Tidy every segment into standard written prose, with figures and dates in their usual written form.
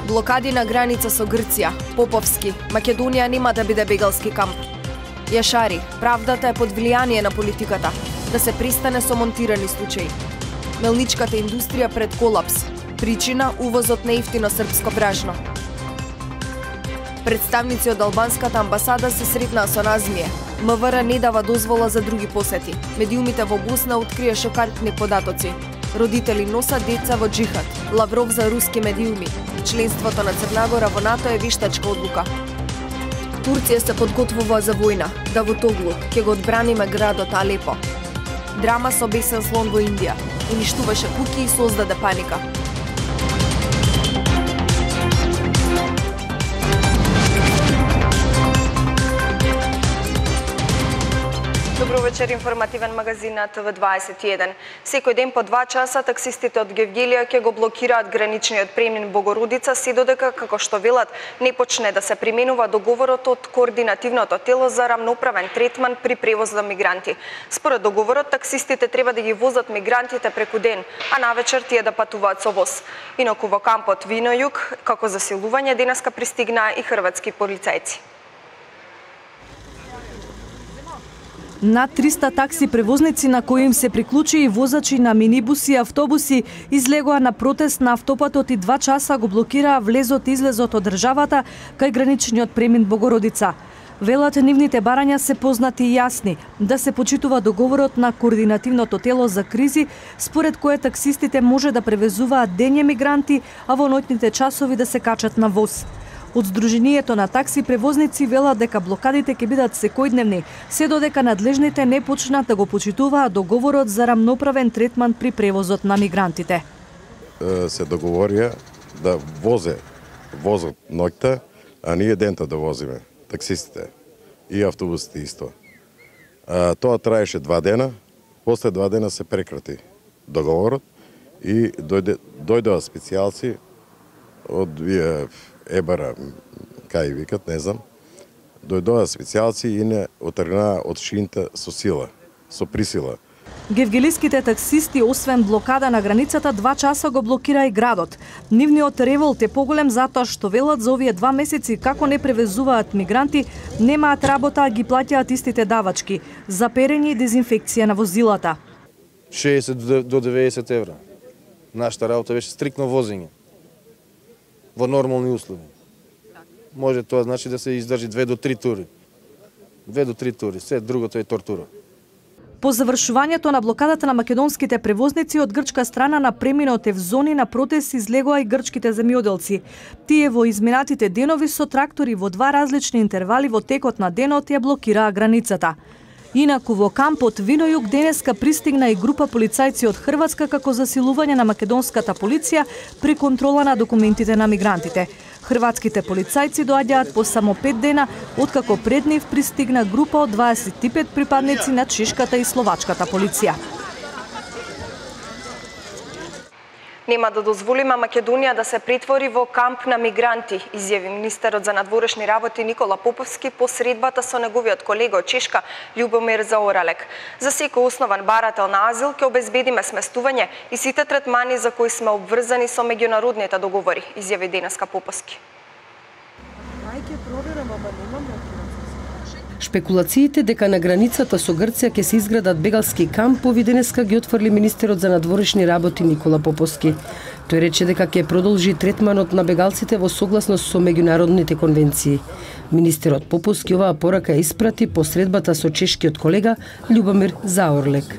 Блокади на граница со Грција, Поповски, Македонија нема да биде бегалски камп. Јашари, правдата е под влијание на политиката, да се пристане со монтирани случаи. Мелничката индустрија пред колапс, причина увозот на ефтино српско бражно. Представници од албанската амбасада се сретнаа со Назмие. МВР не дава дозвола за други посети. Медиумите во Босна открија шокантни податоци. Родители носат деца во джихад. Лавров за руски медиуми. Членството на Црна во НАТО е вештачка одлука. Турција се подготвува за војна. Давутоглу ќе го одбраниме градот Алепо. Драма со бесен слон во Индија. Уништуваше куќи и создаде паника. Добро вечер, информативен магазин на ТВ21. Секој ден по 2 часа таксистите од Гевгелија ќе го блокираат граничниот премин Богородица, се додека, како што велат, не почне да се применува договорот од координативното тело за рамноправен третман при превоз на мигранти. Според договорот, таксистите треба да ги возат мигрантите преку ден, а навечер тие да патуваат со воз. Инаку во кампот Вино Југ, како засилување, денеска пристигнаа и хрватски полицајци. Над 300 такси превозници, на кои им се приклучи и возачи на минибуси и автобуси, излегоа на протест на автопатот и 2 часа го блокираа влезот и излезот од државата кај граничниот премин Богородица. Велат, нивните барања се познати и јасни, да се почитува договорот на координативното тело за кризи, според кое таксистите може да превезуваат дење мигранти, а во ноќните часови да се качат на воз. Од Сдруженијето на такси превозници велат дека блокадите ќе бидат секојдневни, се додека надлежните не почнат да го почитуваат договорот за рамноправен третман при превозот на мигрантите. Се договорија да возат ноќта, а ние дента да возиме, таксистите и автобусите исто. Тоа траеше 2 дена, после 2 дена се прекрати договорот и дојдоа специјалци од Ебара, кај викат, не знам, дојдоа специјалци и не отргнаа од шинта со сила, со присила. Гевгелиските таксисти, освен блокада на границата, 2 часа го блокира и градот. Нивниот револт е поголем затоа што велат за овие 2 месеци како не превезуваат мигранти, немаат работа, а ги плаќаат истите давачки за перење и дезинфекција на возилата. 60 до 90 евра. Нашата работа беше стрикно возење во нормални услови. Може тоа значи да се издржи 2 до 3 тури. 2 до 3 тури, се другото е тортура. По завршувањето на блокадата на македонските превозници од грчка страна на преминот Евзони на протест излегоа и грчките земјоделци. Тие во изминатите денови со трактори во 2 различни интервали во текот на денот ја блокираа границата. Инаку во кампот Вино Југ денеска пристигна и група полицајци од Хрватска како засилување на македонската полиција при контрола на документите на мигрантите. Хрватските полицајци доаѓаат по само 5 дена, откако пред нив пристигна група од 25 припадници на чешката и словачката полиција. Нема да дозволиме Македонија да се претвори во камп на мигранти, изјави министерот за надворешни работи Никола Поповски по средбата со неговиот колега од Чешка Љубомир Заоралек. За секој основан барател на азил ќе обезбедиме сместување и сите третмани за кои сме обврзани со меѓународните договори, изјави денеска Поповски. Шпекулациите дека на границата со Грција ќе се изградат бегалски кампови денеска ги отфрли министерот за надворешни работи Никола Поповски. Тој рече дека ќе продолжи третманот на бегалците во согласност со меѓународните конвенции. Министерот Поповски оваа порака ја испрати по средбата со чешкиот колега Љубомир Заорлек.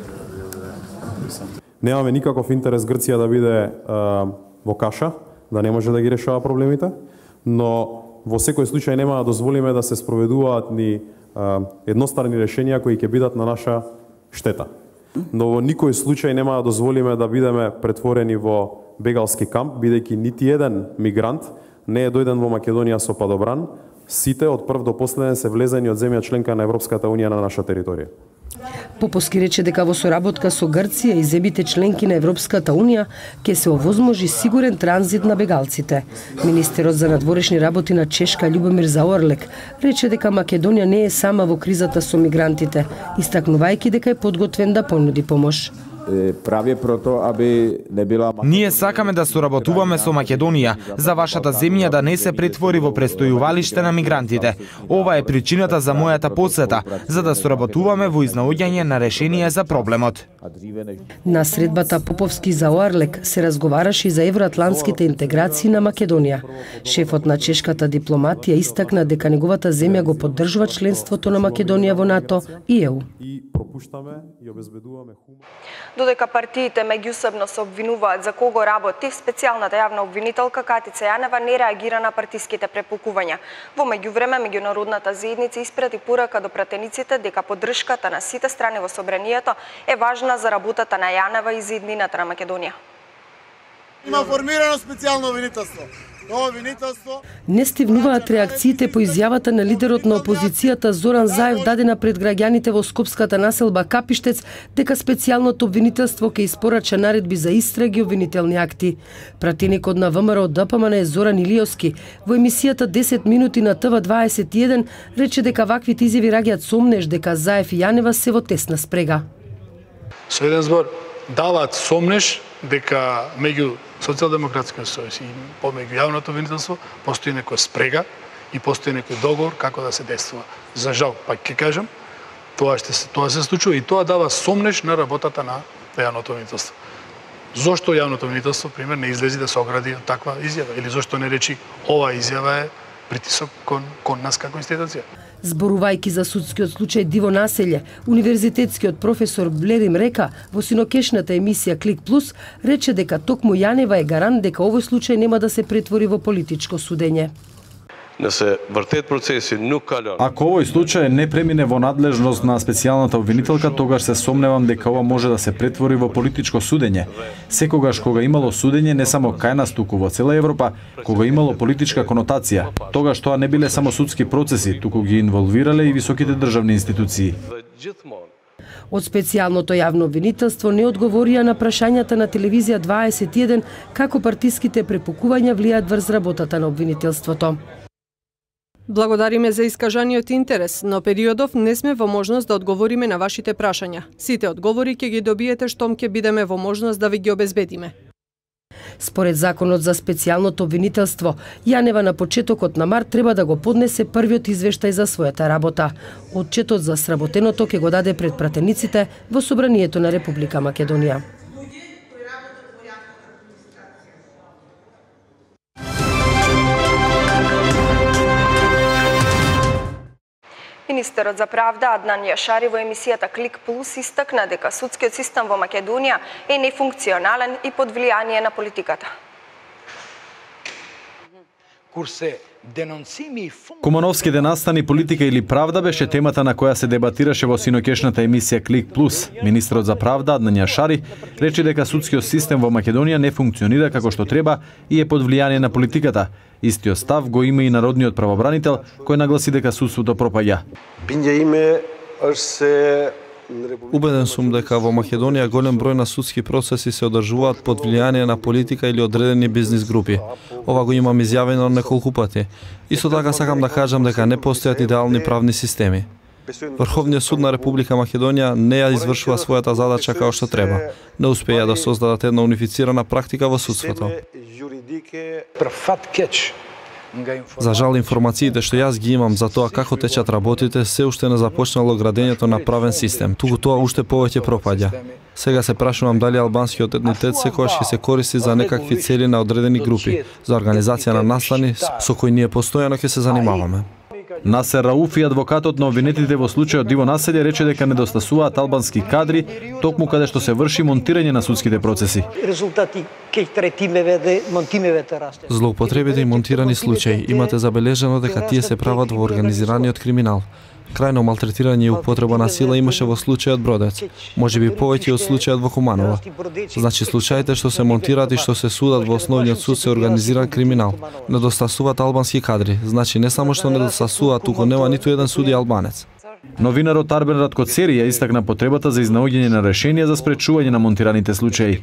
Немаме никаков интерес Грција да биде во каша, да не може да ги решава проблемите, но во секој случај нема да дозволиме да се спроведуваат ни едностранни решенија кои ќе бидат на наша штета. Но во никој случај нема да дозволиме да бидеме претворени во бегалски камп, бидејќи нити еден мигрант не е дојден во Македонија со падобран. Сите од прв до последен се влезени од земја членка на Европската унија на наша територија. Поповски рече дека во соработка со Грција и земјите членки на Европската унија ќе се овозможи сигурен транзит на бегалците. Министерот за надворешни работи на Чешка Љубомир Заорлек рече дека Македонија не е сама во кризата со мигрантите, истакнувајќи дека е подготвен да понуди помош. прави прото аби не била. Ние сакаме да соработуваме со Македонија за вашата земја да не се претвори во престојувалиште на мигрантите. Ова е причината за мојата посета, за да соработуваме во изнаоѓање на решение за проблемот. На средбата Поповски за Оарлек се разговараше и за евроатлантските интеграции на Македонија. Шефот на чешката дипломатија истакна дека неговата земја го поддржува членството на Македонија во НАТО и ЕУ. Додека партиите меѓусебно се обвинуваат за кого работи, специјалната јавна обвинителка Катица Јанева не реагира на партиските препукувања. Во меѓувреме, меѓународната заедница испрати порака до пратениците дека поддршката на сите страни во собранието е важна за работата на Јанева и за иднината на Македонија. Има формирано специјално обвинителство. Тоа обвинителство не стивнуваат реакциите по изјавата на лидерот на опозицијата Зоран Заев дадена пред граѓаните во скопската населба Капиштец дека специјалното обвинителство ќе испорача наредби за истраги и обвинителни акти. Пратеникот на ВМРО ДПМН е Зоран Илиовски во емисијата 10 минути на ТВ21 рече дека ваквите изјави раѓаат сомнеж дека Заев и Јанева се во тесна спрега. Со еден збор даваат сомнеж дека меѓу Социјалдемократскиот сојуз и помеѓу јавното обвинителство постои некоја спрега и постои некој договор како да се действува. За жал, пак ќе кажам, тоа се случува и тоа дава сомнеж на работата на јавното обвинителство. Зошто јавното обвинителство, пример, не излези да се огради од таква изјава или зошто не речи ова изјава е притисок кон нас како институција? Зборувајќи за судскиот случај Диво Населје, универзитетскиот професор Блерим Река во синокешната емисија Клик Плюс рече дека токму Јанева е гарант дека овој случај нема да се претвори во политичко судење. Не се вртет процеси, ако овој случај не премине во надлежност на специјалната обвинителка, тогаш се сомневам дека ова може да се претвори во политичко судење. Секогаш кога имало судење не само кај нас туку во цела Европа, кога имало политичка конотација, тогаш тоа не биле само судски процеси, туку ги инволвирале и високите државни институции. Од специјалното јавно обвинителство не одговорија на прашањата на телевизија 21 како партиските препукувања влијаат врз работата на обвинителството. Благодариме за искажаниот интерес, но периодов не сме во можност да одговориме на вашите прашања. Сите одговори ќе ги добиете штом ќе бидеме во можност да ви ги обезбедиме. Според законот за специјалното обвинителство, Јанева на почетокот на март треба да го поднесе првиот извештај за својата работа. Отчетот за сработеното ќе го даде пред пратениците во собранието на Република Македонија. Министерот за правда Аднан Јашари во емисијата Клик Плюс истакна дека судскиот систем во Македонија е нефункционален и под влијание на политиката. Кумановските настани, политика или правда беше темата на која се дебатираше во синокешната емисија Клик Плюс. Министерот за правда Аднан Јашари рече дека судскиот систем во Македонија не функционира како што треба и е под влијание на политиката. Истиот став го има и народниот правобранител, кој нагласи дека судството пропаѓа. Убеден сум дека во Македонија голем број на судски процеси се одржуваат под влијание на политика или одредени бизнис групи. Ова го имам изјавено неколку пати. Исто така сакам да кажам дека не постојат идеални правни системи. Врховниот суд на Република Македонија не ја извршува својата задача како што треба. Не успеа да создадат една унифицирана практика во судството. За жал, информациите што јас ги имам за тоа како течат работите, се уште не започнало градењето на правен систем, туку тоа уште повеќе пропаѓа. Сега се прашувам дали албанскиот етнитет секогаш ќе се користи за некакви цели на одредени групи, за организација на настани со кои ние постојано ќе се занимаваме. Насер Рауфи, адвокатот на обвинетите во случајот Диво Населје, рече дека недостасуваат албански кадри токму каде што се врши монтирање на судските процеси. Злоупотребите и монтирани случаи имате забележано дека тие се прават во организираниот криминал. Крајно малтретирање и употреба на сила имаше во случајот Бродец, можеби повеќе од случајот во Куманова. Значи случаите што се монтираат и што се судат во основниот суд се организиран криминал. Недостасуваат албански кадри, значи не само што недостасуваат, туку нема ниту еден суди албанец. Новинарот Арбен Раткоцери ја истакна потребата за изнаоѓање на решение за спречување на монтираните случаи.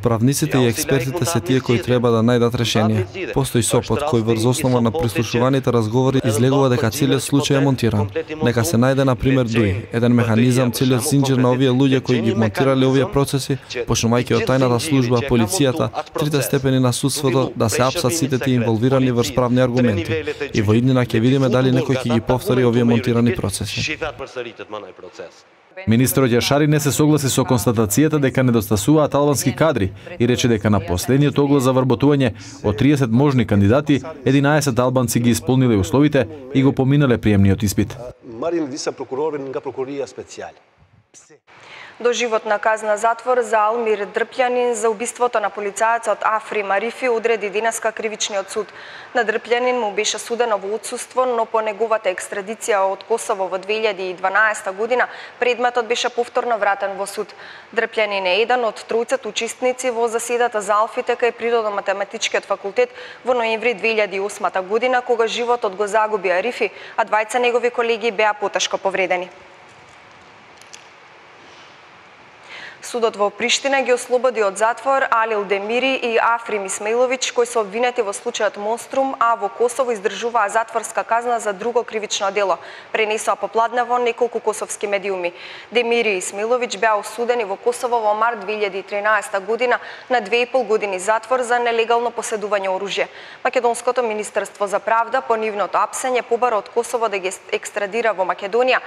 Правниците и експертите се тие кои треба да најдат решение. Постои сопот кој врз основа на прислушуваните разговори излегува дека целиот случај е монтиран. Нека се најде на пример ДУИ, еден механизам, целиот зинџир на овие луѓе кои ги монтирале овие процеси, почнувајќи од тајната служба, полицијата, трите степени на судството, да се апсат сите тие инволвирани врз правни аргументи. И во иднина ќе видиме дали некој ќе ги повтори овие монтирани процеси. Министерот Јашари не се согласи со констатацијата дека недостасуваат албански кадри и рече дека на последниот оглас за вработување од 30 можни кандидати, 11 албанци ги исполниле условите и го поминале приемниот испит. Доживотна казна затвор за Алмир Дрпљанин за убиството на полицајецот Афри Марифи одреди денеска кривичниот суд. На Дрпљанин му беше судено во отсуство, но по неговата екстрадиција од Косово во 2012 година предметот беше повторно вратен во суд. Дрпљанин е еден од тројцата учесници во заседата за алфите кај Природно-математичкиот факултет во ноември 2008 година, кога животот го загуби Арифи, а двајца негови колеги беа потешко повредени. Судот во Приштина ги ослободи од затвор Алил Демири и Африм Исмаиловиќ, кои се обвинети во случајот Монструм, а во Косово издржуваа затворска казна за друго кривично дело, пренесоа попладнево неколку косовски медиуми. Демири и Исмаиловиќ беа осудени во Косово во март 2013 година на 2,5 години затвор за нелегално поседување оружје. Македонското министерство за правда по нивното апсење побара од Косово да ги екстрадира во Македонија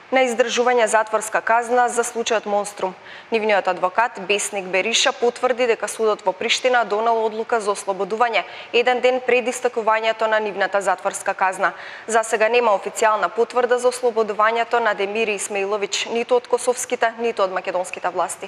на издржување затворска казна за случајот Монструм. Нивниот адвокат Бесник Бериша потврди дека судот во Приштина донел одлука за ослободување еден ден пред истекувањето на нивната затворска казна. За сега нема официјална потврда за ослободувањето на Демири Исмаиловиќ ниту од косовските, ниту од македонските власти.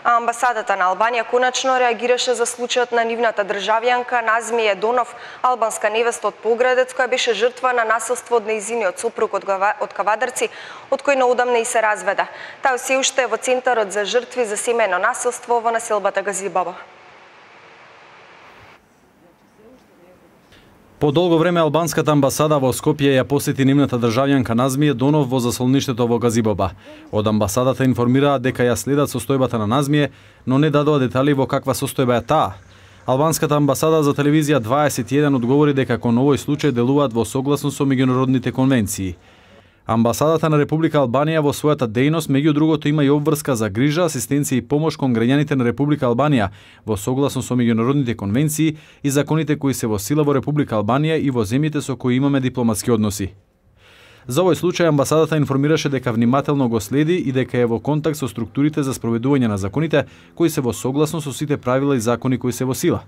А амбасадата на Албанија конечно реагираше за случајот на нивната државјанка Назмие Донов, албанска невеста од Поградец, која беше жртва на насилство од нејзиниот сопруг од Кавадарци, од кој наодамна и се разведа. Тај се уште е во Центарот за жртви за семејно насилство во населбата Газибаба. По долго време албанската амбасада во Скопје ја посети нивната државјанка Назмие Донов во заслоништето во Газибаба. Од амбасадата информираа дека ја следат состојбата на Назмие, но не дадоа детали во каква состојба е таа. Албанската амбасада за телевизија 21 одговори дека кон овој случај делуваат во согласно со меѓународните конвенции. Амбасадата на Република Албанија во својата дејност меѓу другото има и обврска за грижа, асистенција и помош кон граѓаните на Република Албанија во согласно со меѓународните конвенции и законите кои се во сила во Република Албанија и во земјите со кои имаме дипломатски односи. За овој случај амбасадата информираше дека внимателно го следи и дека е во контакт со структурите за спроведување на законите кои се во согласно со сите правила и закони кои се во сила.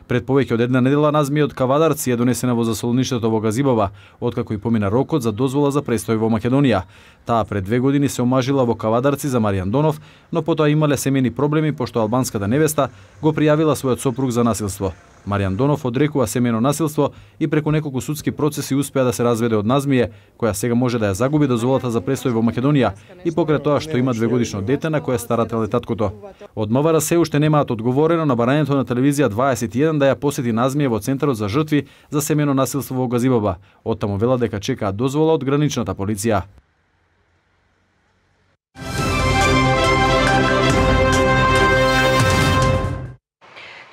Пред повеќе од една недела Назмие од Кавадарци е донесена во заслоништето во Газибаба, откако и помина рокот за дозвола за престој во Македонија. Таа пред 2 години се омажила во Кавадарци за Маријан Донов, но потоа имале семејни проблеми пошто албанската невеста го пријавила својот сопруг за насилство. Маријан Донов одрекува семејно насилство и преку неколку судски процеси успеа да се разведе од Назмие, која сега може да ја загуби дозволата за престој во Македонија и покрај тоа што има 2-годишно дете на кое старател е таткото. Од МВР се уште немаат одговорено на барањето на телевизија 21 да ја посети Назмие во Центарот за жртви за семејно насилство во Газибаба. Оттаму велат дека чекаат дозвола од граничната полиција.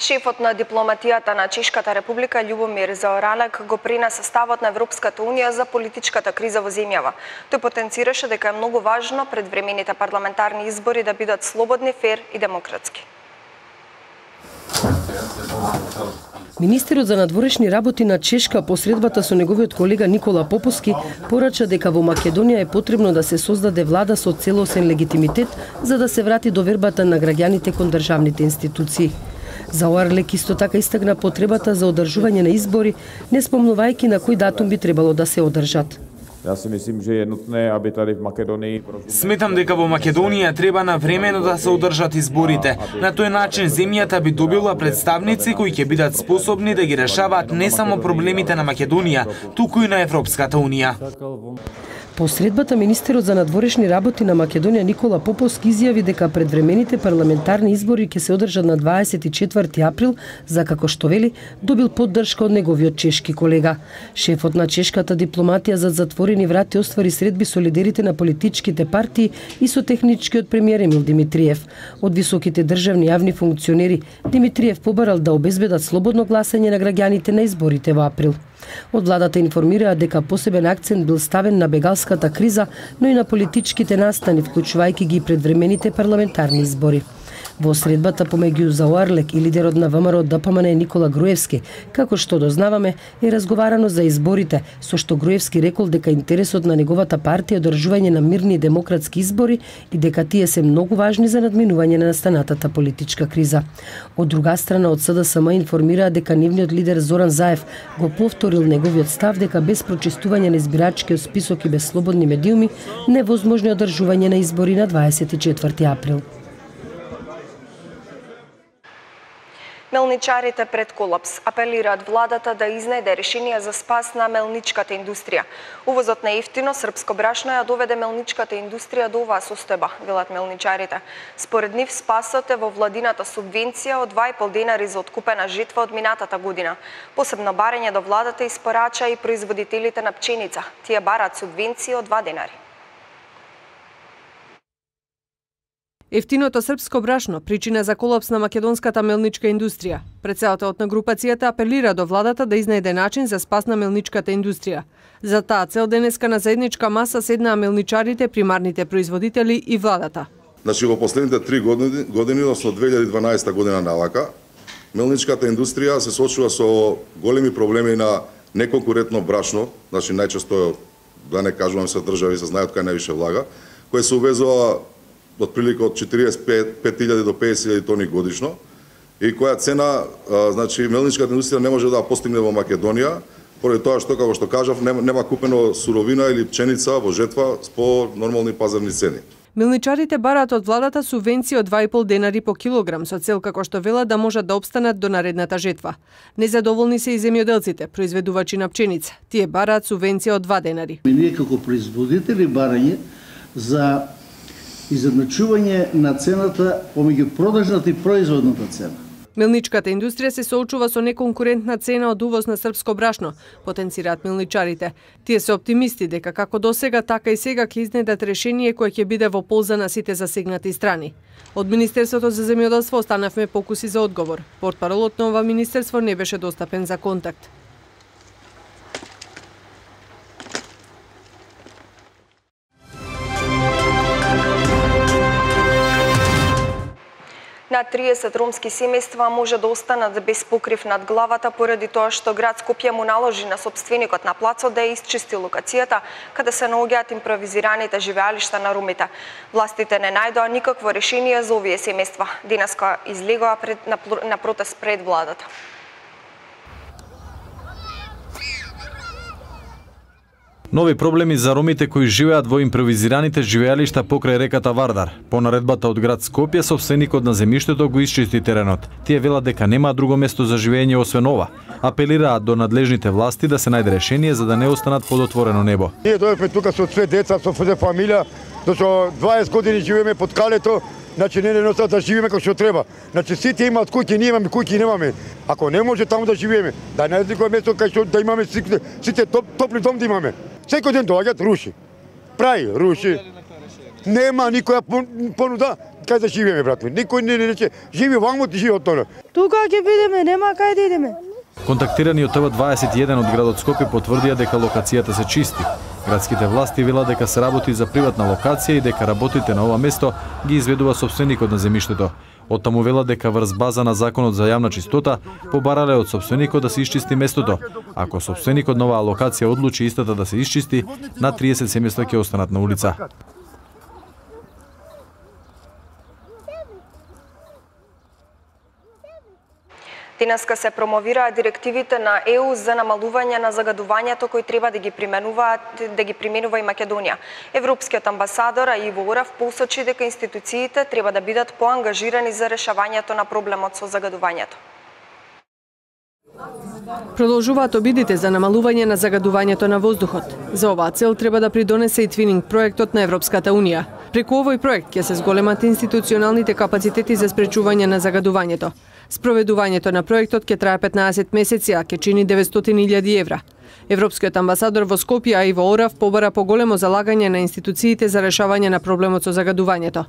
Шефот на дипломатијата на Чешката република Љубомир Заоралек го пренесе ставот на Европската унија за политичката криза во земјава. Тој потенцираше дека е многу важно предвремените парламентарни избори да бидат слободни, фер и демократски. Министерот за надворешни работи на Чешка посредбата со неговиот колега Никола Поповски порача дека во Македонија е потребно да се создаде влада со целосен легитимитет за да се врати довербата на граѓаните кон државните институции. Заоралек исто така истакна потребата за одржување на избори, не спомнувајќи на кој датум би требало да се одржат. Сметам дека во Македонија треба навремено да се одржат изборите. На тој начин земјата би добила представници кои ќе бидат способни да ги решаваат не само проблемите на Македонија, туку и на Европската унија. По средбата, министерот за надворешни работи на Македонија Никола Поповски изјави дека предвремените парламентарни избори ќе се одржат на 24 април, за како што вели, добил поддршка од неговиот чешки колега. Шефот на чешката дипломатија за затворени врати оствари средби со лидерите на политичките партии и со техничкиот премиер Емил Димитриев. Од високите државни јавни функционери, Димитриев побарал да обезбедат слободно гласање на граѓаните на изборите во април. Од владата информираа дека посебен акцент бил ставен на бегалската криза, но и на политичките настани, вклучувајќи ги предвремените парламентарни избори. Во средбата помеѓу Зао Арлек и лидерот на ВМРО ДПМН Никола Груевски, како што дознаваме, е разговарано за изборите, со што Груевски рекол дека интересот на неговата партија е одржување на мирни и демократски избори и дека тие се многу важни за надминување на настанатата политичка криза. Од друга страна, од СДСМ информираа дека нивниот лидер Зоран Заев го повторил неговиот став дека без прочистување на избирачкиот список и без слободни медиуми невозможно е одржување на избори на 24 април. Мелничарите пред колапс апелираат владата да изнеде решение за спас на мелничката индустрија. Увозот на ефтино српско брашно ја доведе мелничката индустрија до оваа состојба, велат мелничарите. Според нив спасот е во владината субвенција од 2,5 денари за откупена житва од минатата година. Посебно барање до владата испорача и производителите на пченица. Тие бараат субвенција од 2 денари. Ефтиното српско брашно причина за колапс на македонската мелничка индустрија. Претседателот на групацијата апелира до владата да изнајде начин за спас на мелничката индустрија. За таа цел денеска на заедничка маса седнаа мелничарите, примарните производители и владата. Значи во последните 3 години, односно 2012 година навака, мелничката индустрија се соочува со големи проблеми на неконкурентно брашно, значи најчесто, да не кажувам се држави се знаат кај највише влага, кој се увезува отприлика од 45.000 до 50.000 тони годишно и која цена, значи мелничката индустрија не може да ја постигне во Македонија, поради тоа што, како што кажав, нема купено суровина или пченица во жетва по нормални пазарни цени. Мелничарите бараат од владата субвенција од 2,5 денари по килограм, со цел како што велат да можат да опстанат до наредната жетва. Незадоволни се и земјоделците, произведувачи на пченица. Тие бараат субвенција од 2 денари. Ние како производители барање за изедначување на цената помеѓу продажната и производната цена. Мелничката индустрија се соочува со неконкурентна цена од увоз на српско брашно, потенцираат мелничарите. Тие се оптимисти дека како досега, така и сега ќе изнедат решение кое ќе биде во полза на сите засегнати страни. Од Министерството за земјоделство останавме покуси за одговор. Портпаролот на ова министерство не беше достапен за контакт. На 30 ромски семејства може да останат без покрив над главата поради тоа што град Скопје му наложи на сопственикот на плацот да ја исчисти локацијата каде се наоѓаат импровизираните живеалишта на ромите. Властите не најдоа никакво решение за овие семејства. Денеска излегоа на протест пред владата. Нови проблеми за ромите кои живеат во импровизираните живеалишта покрај реката Вардар. По наредбата од град Скопје, собственикот на земјиштето го исчисти теренот. Тие велат дека нема друго место за живење освен ова. Апелираат до надлежните власти да се најде решение за да не останат под отворено небо. Ние дојдовме тука со 2 деца, со фамилија, со 20 години живееме под калето. Значи не носа да живееме како што треба. Значи сите имаат куќи, ние имаме куќи, немаме. Ако не може таму да живееме, да најдеме место кај што да имаме сите топли дом да имаме. Секој ден доаѓаат, руши. Прави, руши. Нема никоја понуда кај да живееме, брат ми. Никој не рече живи ваму, ти живи од тоа. Тука ќе бидеме, нема кај да идеме. Контактирани од ТВ21 од градот Скопје потврдија дека локацијата се чисти. Градските власти велат дека се работи за приватна локација и дека работите на ова место ги изведува собственикот на земјиштето. Оттаму велат дека врз база на законот за јавна чистота побарале од собственикот да се исчисти местото. Ако собственикот на оваа локација одлучи истата да се исчисти, на 30 семејства ќе останат на улица. Денеска се промовираат директивите на ЕУ за намалување на загадувањето кои треба да ги применува и Македонија. Европскиот амбасадор Иво Орав посочи дека институциите треба да бидат поангажирани за решавањето на проблемот со загадувањето. Продолжуваат обидите за намалување на загадувањето на воздухот. За оваа цел треба да придонесе и твининг проектот на Европската Унија. Преку овој проект ќе се зголемат институционалните капацитети за спречување на загадувањето. Спроведувањето на проектот ќе трае 15 месеци, а ќе чини 900.000 евра. Европскиот амбасадор во Скопје Иво Орав побара поголемо залагање на институциите за решавање на проблемот со загадувањето.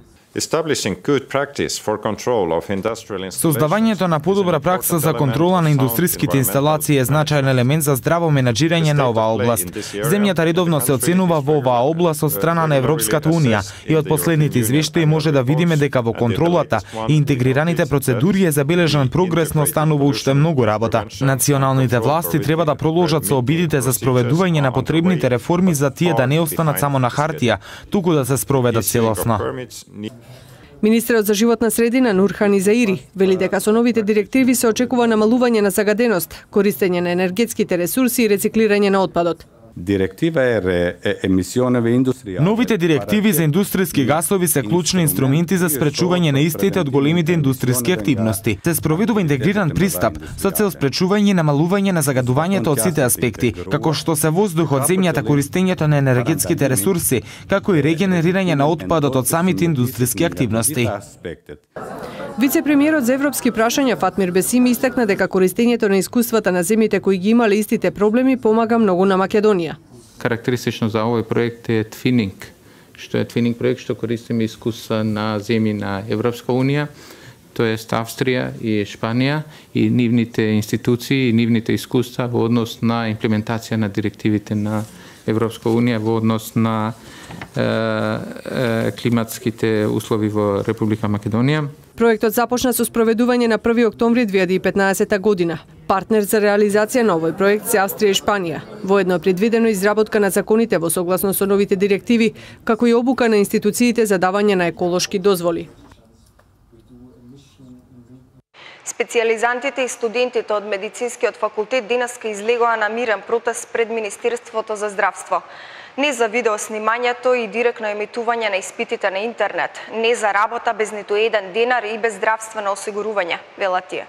Создавањето на подобра пракса за контрола на индустриските инсталации е значаен елемент за здраво менаџирање на оваа област. Земјата редовно се оценува во оваа област од страна на Европската Унија и од последните извештаи може да видиме дека во контролата и интегрираните процедури е забележан прогрес, но останува уште многу работа. Националните власти треба да продолжат со обидите за спроведување на потребните реформи за тие да не останат само на хартија, туку да се спроведат целосно. Министерот за животна средина Нурхан Изаири вели дека со новите директиви се очекува намалување на загаденост, користење на енергетските ресурси и рециклирање на отпадот. Новите директиви за индустријски гасови се клучни инструменти за спречување на истите од големите индустријски активности. Се спроведува интегриран пристап со цел спречување и намалување на загадувањето од сите аспекти, како што се воздухот, земјата, користењето на енергетските ресурси, како и регенерирање на отпадот од самите индустријски активности. Вице-премиерот за европски прашања Фатмир Бесими истакна дека користењето на искуствата на земјите кои ги имале истите проблеми помага многу на Македонија. Карактеристично за овој проект е твининг, што е твининг проект што користиме искуства на земји на Европска Унија, тоест Австрија и Шпанија и нивните институции и нивните искуства во однос на имплементација на директивите на Европска Унија во однос на климатските услови во Република Македонија. Проектот започна со спроведување на 1 октомври 2015 година. Партнер за реализација на овој проект се Австрија и Шпанија. Воедно е предвидено изработка на законите во согласно со новите директиви, како и обука на институциите за давање на еколошки дозволи. Специјализантите и студентите од медицинскиот факултет денеска излегоа на мирен протест пред Министерството за здравство. Не за видеоснимањето и директно емитување на испитите на интернет, не за работа без ниту еден денар и без здравствено осигурување, велат тие.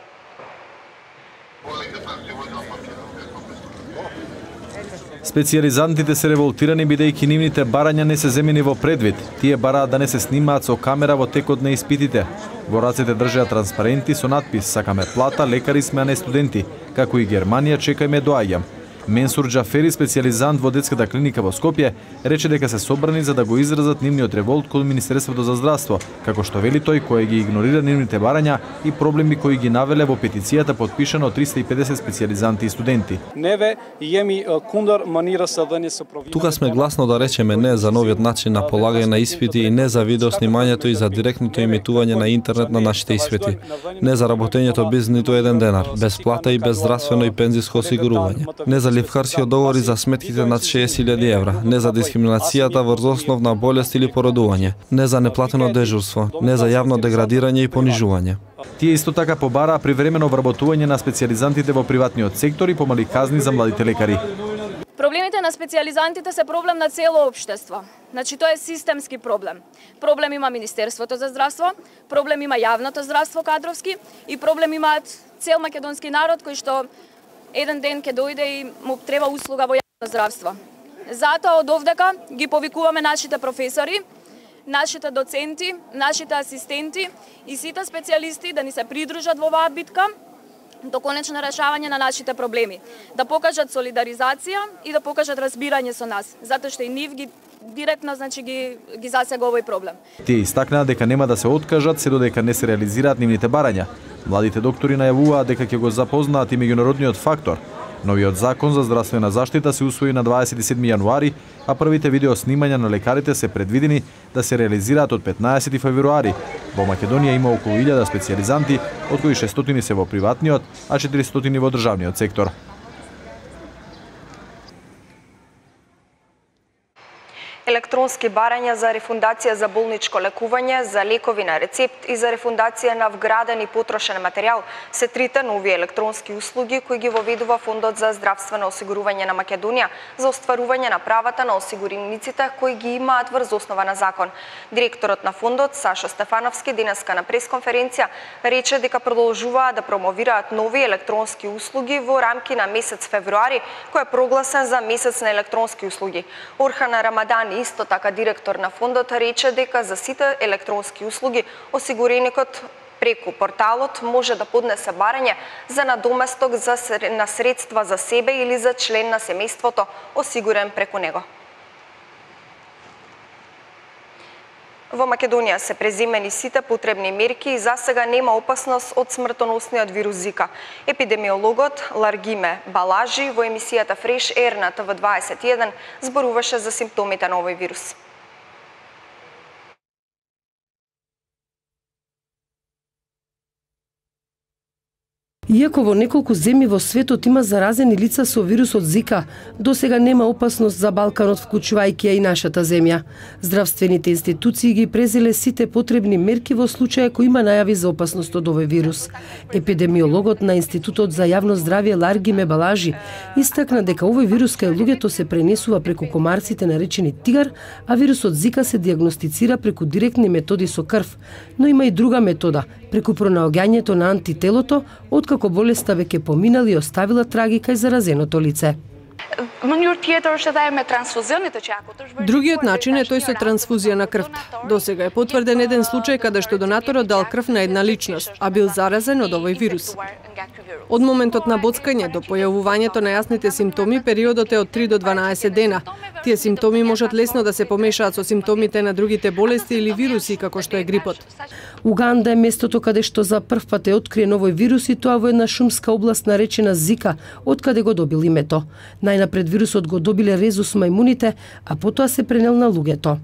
Специјализантите се револтирани бидејќи нивните барања не се земени во предвид. Тие бараат да не се снимаат со камера во текот на испитите. Во рацете држеа транспаренти со надпис "Сакаме плата, лекари сме, а не студенти", како и Германија чекајме доаѓам. Менсур Џафери, специјализант во детската клиника во Скопје, рече дека се собрани за да го изразат нивниот револт кон Министерството за здравство, како што вели тој кој ги игнорира нивните барања и проблеми кои ги навеле во петицијата подпишана од 350 специјализанти и студенти. Тука сме гласно да речеме не за новиот начин на полагање на испити и не за видеоснимањето и за директното емитување на интернет на нашите испити. Не за работењето без ниту еден денар, без плата и без здравствено и пензиско осигурување. Не за ливкарски договори за сметките над 60.000 евра, не за дискриминацијата врз основ на болест или породување, не за неплатено дежурство, не за јавно деградирање и понижување. Тие исто така побараа привремено вработување на специјализантите во приватниот сектор и помали казни за младите лекари. Проблемите на специјализантите се проблем на цело општество. Значи тоа е системски проблем. Проблем има Министерството за здравство, проблем има јавното здравство кадровски и проблем имаат цел македонски народ кој што еден ден ќе дојде и му треба услуга во јавно здравство. Затоа од овдека ги повикуваме нашите професори, нашите доценти, нашите асистенти и сите специјалисти да ни се придружат во оваа битка до конечно решавање на нашите проблеми, да покажат солидаризација и да покажат разбирање со нас, затоа што и нив ги директно ги засега овој проблем. Тие истакнаа дека нема да се откажат се додека не се реализираат нивните барања. Младите доктори најавуваат дека ќе го запознаат и меѓународниот фактор. Новиот закон за здравствена заштита се усвои на 27 јануари, а првите видеоснимања на лекарите се предвидени да се реализираат од 15 февруари. Во Македонија има околу 1000 специјализанти, од кои 600 се во приватниот, а 400 во државниот сектор. Електронски барања за рефундација за болничко лекување, за лекови на рецепт и за рефундација на вграден и потрошен материјал се трите нови електронски услуги кои ги воведува Фондот за здравствено осигурување на Македонија за остварување на правата на осигурениците кои ги имаат врз основа на закон. Директорот на фондот Сашо Стефановски денеска на пресконференција рече дека продолжуваат да промовираат нови електронски услуги во рамки на месец февруари, кој е прогласен за месец на електронски услуги. Орхан Рамадан, исто така директор на фондот, рече дека за сите електронски услуги осигуреникот преку порталот може да поднесе барање за надоместок на средства за себе или за член на семејството осигурен преку него. Во Македонија се преземени сите потребни мерки и засега нема опасност од смртоносниот вирус Зика. Епидемиологот Ларгиме Балажи во емисијата Fresh Air на ТВ21 зборуваше за симптомите на овој вирус. Иако во неколку земји во светот има заразени лица со вирусот Зика, досега нема опасност за Балканот, вклучувајќи ја и нашата земја. Здравствените институции ги презеле сите потребни мерки во случај ако има најави за опасност од овој вирус. Епидемиологот на Институтот за јавно здравје Ларгиме Балажи истакна дека овој вирус кај луѓето се пренесува преку комарците наречени тигар, а вирусот Зика се диагностицира преку директни методи со крв, но има и друга метода, преку пронаоѓањето на антителото, откако болеста веќе поминала и оставила траги кај заразеното лице. Другиот начин е тој со трансфузија на крвта. Досега е потврден еден случај каде што донаторот дал крв на една личност, а бил заразен од овој вирус. Од моментот на боцкање до појавувањето на јасните симптоми, периодот е од 3 до 12 дена. Тие симптоми можат лесно да се помешаат со симптомите на другите болести или вируси, како што е грипот. Уганда е местото каде што за прв пат е откриен овој вирус и тоа во една шумска област наречена Зика, откаде го добил името. Најнапред вирусот го добиле резус мајмуните, а потоа се пренел на луѓето.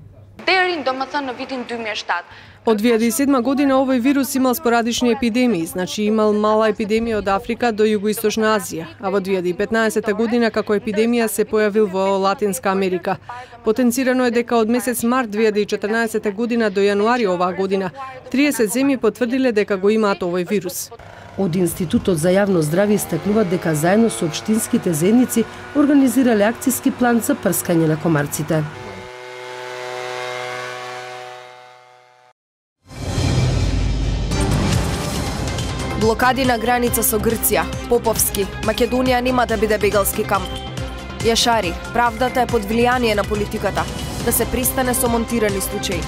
Од 2007 година овој вирус имал спорадични епидемии, значи имал мала епидемија од Африка до Југоисточна Азија, а во 2015 година како епидемија се појавил во Латинска Америка. Потенцирано е дека од месец март 2014 година до јануари оваа година 30 земји потврдиле дека го имаат овој вирус. Од Институтот за јавно здравје истакнуваат дека заедно со општинските заедници организирале акцијски план за прскање на комарците. Блокади на граница со Грција, Поповски, Македонија нема да биде бегалски камп. Јашари, правдата е под влијание на политиката, да се престане со монтирани случаи.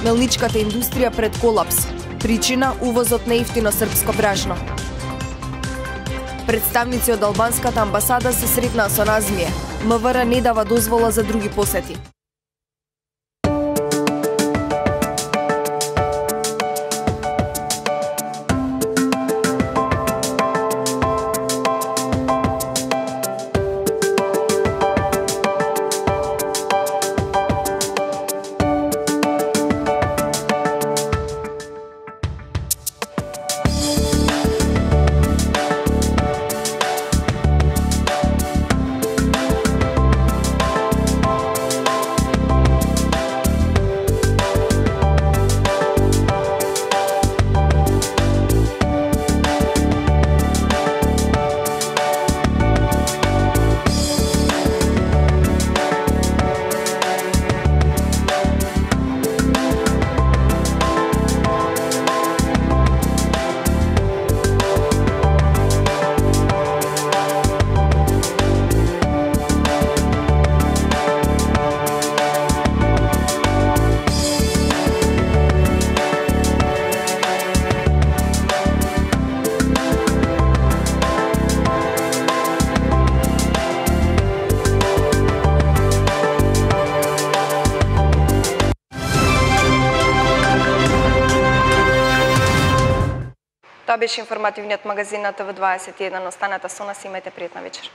Мелничката индустрија пред колапс, причина увозот на ефтино српско бражно. Представници од албанската амбасада се сретнаа со Назмие. МВР не дава дозвола за други посети. Тоа беше информативниот магазин на ТВ21. Останете со нас и имајте пријатна вечер.